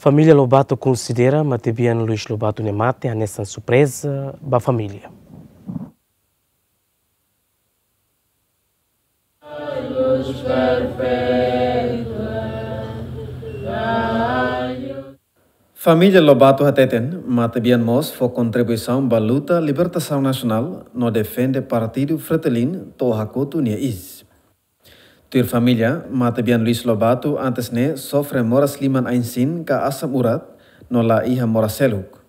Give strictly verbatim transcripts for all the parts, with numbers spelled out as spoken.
Família Lobato konsidera matebian Luis Lobato nia mate hanesan surpreza ba família. Família Lobato hateten, matebian mós fó kontribuisaun ba luta libertasaun nasionál no defende partidu Fretilin to'o hakotu nia iis. Tuir família, matebian Luis Lobato antes ne'e sofre moras liman ain-sin ka asam urat, no la iha moras seluk.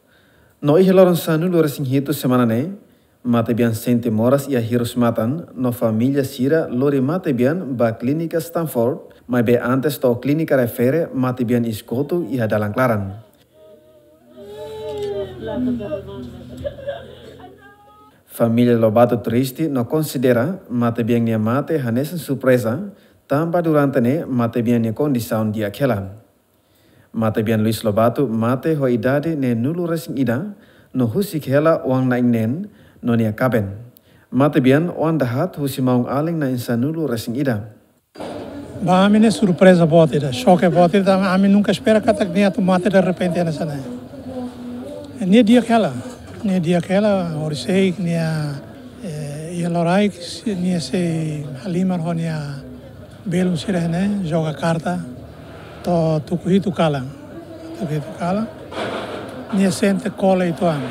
No iha loron sanulu-resin-hitu semana ne'e, matebian sente moras iha hirus-matan, no família sira lori matebian ba klínika Stanford, maibé antes to'o klínika refere matebian iis kotu iha dalan klaran. Família Lobato triste no konsidera matebian nia mate hanesan surpreza, tanba durante ne'e matebian nia kondisaun di'ak hela. Matebian Luis Lobato mate ho idade neenulu-resin-ida, no husik hela oan na'in-neen no nia kaben. Matebian oan dahaat husi maun-alin na'in sanulu-resin-ida. Ba ami ne'e surpreza boot ida, xoke boot ida, ami nunka espera katak nia atu mate derrepente hanesan ne'e. Nia di'ak hela, nia di'ak hela, horisehik nia, eh, iha loraik, nia sei halimar ho nia belun sira ne'e, joga karta, to'o tuku hitu kalan, tuku hitu kalan. Nia sente kole uitoan,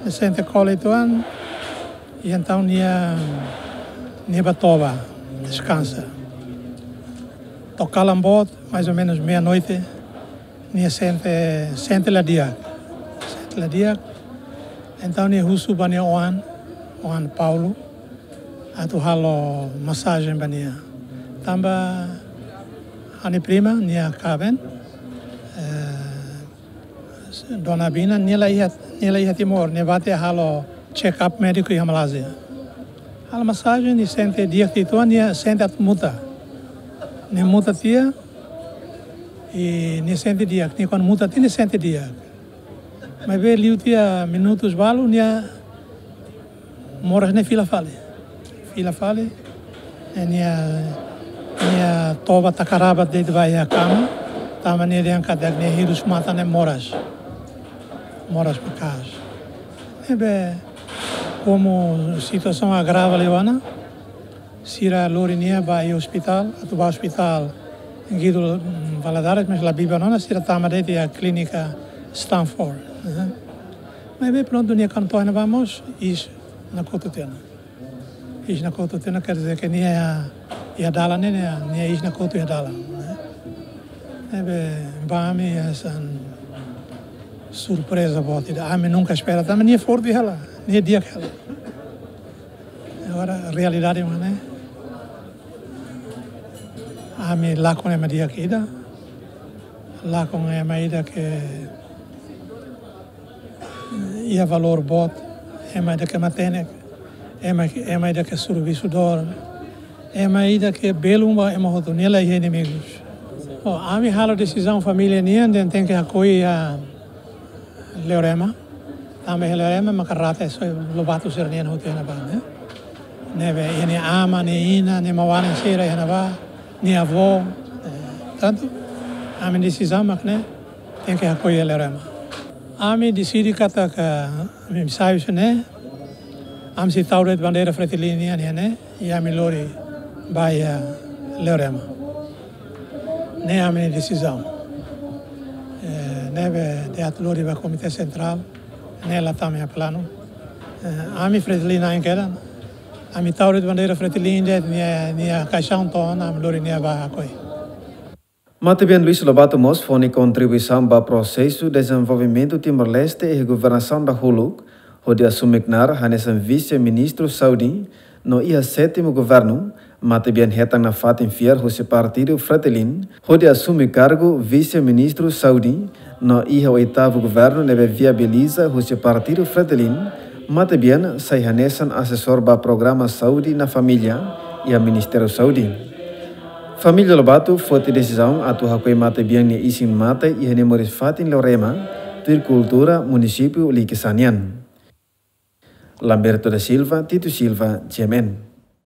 nia sente kole uitoan, i entaun nia, nia bá toba, deskansa. To'o kalan boot, mais ou menus meia-noite, nia sente, sente la di'ak, sente la di'ak. Entaun nia husu ba nia oan, oan Paulo, atu halo masajen ba nia. Tanba ha'u-nia prima, nia kaben, eh, Dona Bina, nia la iha, nia la iha Timor, nia bá tiha halo check-up médiku iha Malázia. Halo masajen, nia sente di'ak uitoan, nia sente atu muta. Nia muta tiha, i nia sente di'ak, nia kuandu muta tiha, nia sente di'ak. Maibé liu tiha minutus balu, nia moras ne'e fila fali. Fila fali. I nia, nia toba taka rabat de'it ba iha kama. Tanba nia dehan katak nia hirus-matan ne'e moras. Moras maka'as. Ne'ebé, komu situasaun agrava liu ona, sira lori nia ba iha ospitál, atu ba ospitál Guido, mm, Valadares, mais la biban ona, sira tama de'it iha klínika Stanford, eh. Maibé prontu, nia kuandu to'o iha ne'ebá mós, iis nakotu tiha ona. Iis nakotu tiha ona, quer dizer que nia iha dalan ne'e, nia, nia iis nakotu iha dalan, eh. Ne'ebé ba ami hanesan surpreza boot ida, ami nunka espera, tanba nia forte hela, nia di'ak hela. Agora, realidade mak ne'e, ami lakon ema di'ak ida, lakon ema ida ke iha valór boot, ema ida ke matenek, ema, ema ida ke servisu dór, ema ida ke belun ba ema hotu, nia la iha inimigus. Ho, ami halo desizaun família nian dehan tenke hakoi iha Leorema. Tanba iha Leorema maka rate soi Lobato sira-nian hotu iha ne'ebá, ne'e. Ne'ebé iha nia aman, nia inan, nia maun-alin sira iha ne'ebá, nia avó, eh, tantu ami desizaun mak ne'e, tenke hakoi iha Leorema. Ami deside katak ami sai husi ne'e, ami sei tau de'it bandeira Fretilin nian iha ne'e, i ami lori ba iha Leorema. Ne'e ami-nia desizaun. Eh, ne'ebé dehan atu lori ba Komité Sentrál, ne'e la tama iha planu. Eh, ami Fretilin na'in kedan, ami tau de'it bandeira Fretilin de'it nia, nia kaixaun to'o ona, ami lori nia ba hakoi. Matebian Luis Lobato mós fó nia kontribuisaun ba prosesu dezenvolvimentu Timor-Leste iha governasaun dahuluk, hodi asume knaar hanesan Vise-Ministru Saúde, no iha sétimu governu, matebian hetan nafatin fiar husi partidu Fretilin, hodi asume kargu Vise-Ministru Saúde, no iha oitavu governu ne'ebé viabiliza husi partidu Fretilin, matebian sai hanesan asesór ba programa Saúde na Família iha Ministériu Saúde. Família Lobato foti desizaun atu hakoi matebian nia isin-mate iha nia moris-fatin Leorema, tuir kultura munisípiu Likisá nian. Lamberto da Silva, Tito Silva, G M N.